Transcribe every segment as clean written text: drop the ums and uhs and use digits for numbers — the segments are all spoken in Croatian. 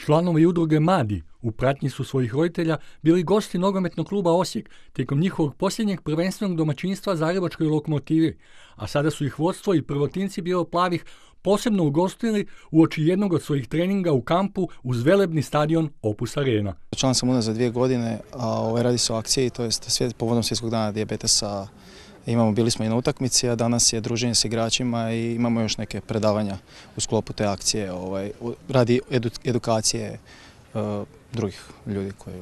Članovi udruge Madi u pratnji su svojih roditelja bili gosti nogometnog kluba Osijek tijekom njihovog posljednjeg prvenstvenog domaćinstva Zagrebačkoj Lokomotivi, a sada su ih vodstvo i prvotinci bijelo-plavih posebno ugostili uoči jednog od svojih treninga u kampu uz velebni stadion Opus Arena. Član sam unazad 2 godine, a radi se o akciji, to jest povodom Svjetskog dana dijabetesa. Bili smo i na utakmici, a danas je druženje s igračima i imamo još neke predavanja u sklopu te akcije radi edukacije drugih ljudi koji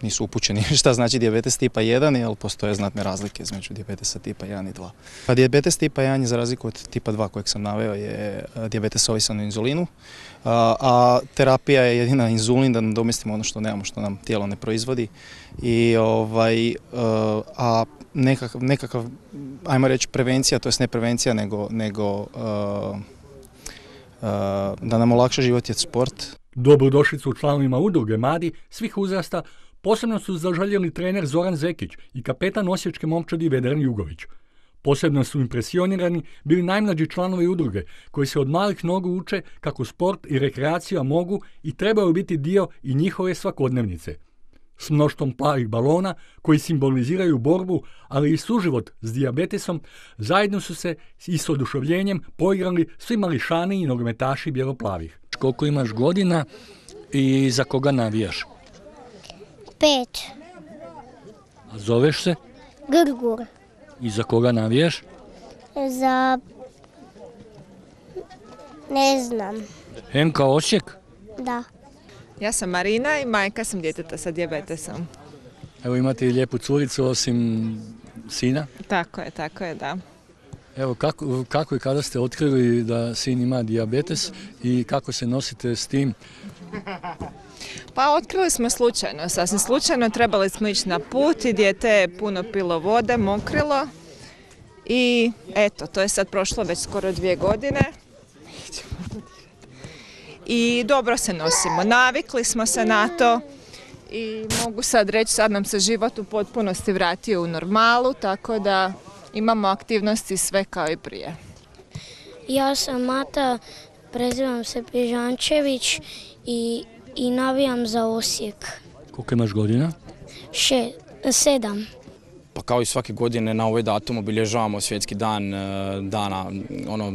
nisu upućeni šta znači dijabetes tipa 1, jer postoje znatne razlike između dijabetesa tipa 1 i 2. Pa dijabetes tipa 1 je za razliku od tipa 2 kojeg sam naveo je dijabetes ovisan o inzulinu, a terapija je jedina inzulin da nadomestimo ono što nemamo, što nam tijelo ne proizvodi. A nekakav, ajmo reći, prevencija, to jest ne prevencija, nego da nam olakša život je sport. Dobrodošlicu članovima udruge Madi svih uzrasta posebno su zaželjeli trener Zoran Zekić i kapetan osječke momčadi Vedran Jugović. Posebno su impresionirani bili najmlađi članovi udruge, koji se od malih nogu uče kako sport i rekreacija mogu i trebaju biti dio i njihove svakodnevnice. S mnoštvom plavih balona koji simboliziraju borbu, ali i suživot s dijabetesom, zajedno su se i s oduševljenjem poigrali svi mališani i nogometaši bijelo-plavih. Koliko imaš godina i za koga navijaš? 5. A zoveš se? Grgur. I za koga navijaš? Za... ne znam. MK Osijek? Da. Ja sam Marina i majka sam djeteta sa dijabetesom. Evo imate i lijepu curicu osim sina? Tako je, da. Evo kako i kada ste otkrili da sin ima dijabetes i kako se nosite s tim? Pa otkrili smo slučajno, sasvim slučajno, trebali smo ići na put i dijete je puno pilo vode, mokrilo i eto, to je sad prošlo već skoro 2 godine. I dobro se nosimo, navikli smo se na to i mogu sad reći, sad nam se život u potpunosti vratio u normalu, tako da imamo aktivnosti sve kao i prije. Ja sam Mata, prezivam se Pižančević i navijam za Osijek. Koliko imaš godina? 7. Pa kao i svake godine na ovaj datum obilježavamo svjetski dan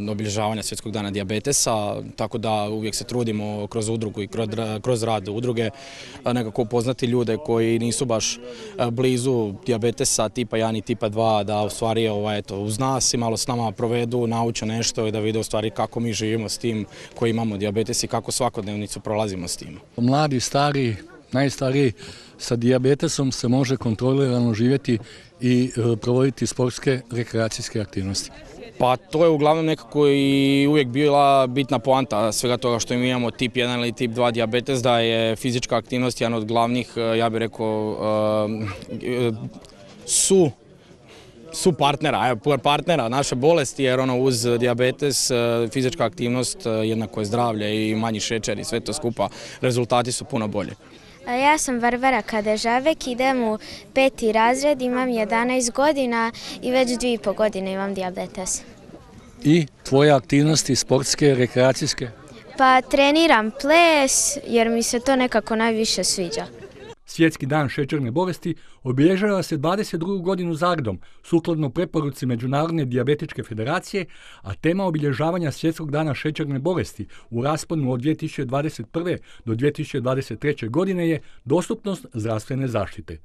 obilježavanja svjetskog dana dijabetesa, tako da uvijek se trudimo kroz udrugu i kroz rad udruge nekako upoznati ljude koji nisu baš blizu dijabetesa tipa 1 i tipa 2, da u stvari uz nas i malo s nama provedu, nauče nešto i da vide u stvari kako mi živimo s tim koji imamo dijabetes i kako svakodnevnicu prolazimo s tim. Mladi, stari, najstariji sa dijabetesom se može kontrolirano živjeti i provoditi sportske rekreacijske aktivnosti. Pa to je uglavnom nekako i uvijek bila bitna poanta svega toga što mi imamo tip 1 ili tip 2 dijabetes, da je fizička aktivnost jedan od glavnih, ja bih rekao, partnera naše bolesti, jer uz dijabetes fizička aktivnost jednako je zdravlje i manji šećer i sve to skupa, rezultati su puno bolji. Ja sam Varvara Kadežavek, idem u 5. razred, imam 11 godina i već 2,5 godine imam dijabetes. I tvoje aktivnosti sportske, rekreacijske? Pa treniram ples jer mi se to nekako najviše sviđa. Svjetski dan šećerne bolesti obilježava se 22. godinu za redom, sukladno preporuci Međunarodne dijabetičke federacije, a tema obilježavanja Svjetskog dana šećerne bolesti u rasponu od 2021. do 2023. godine je dostupnost zdravstvene zaštite.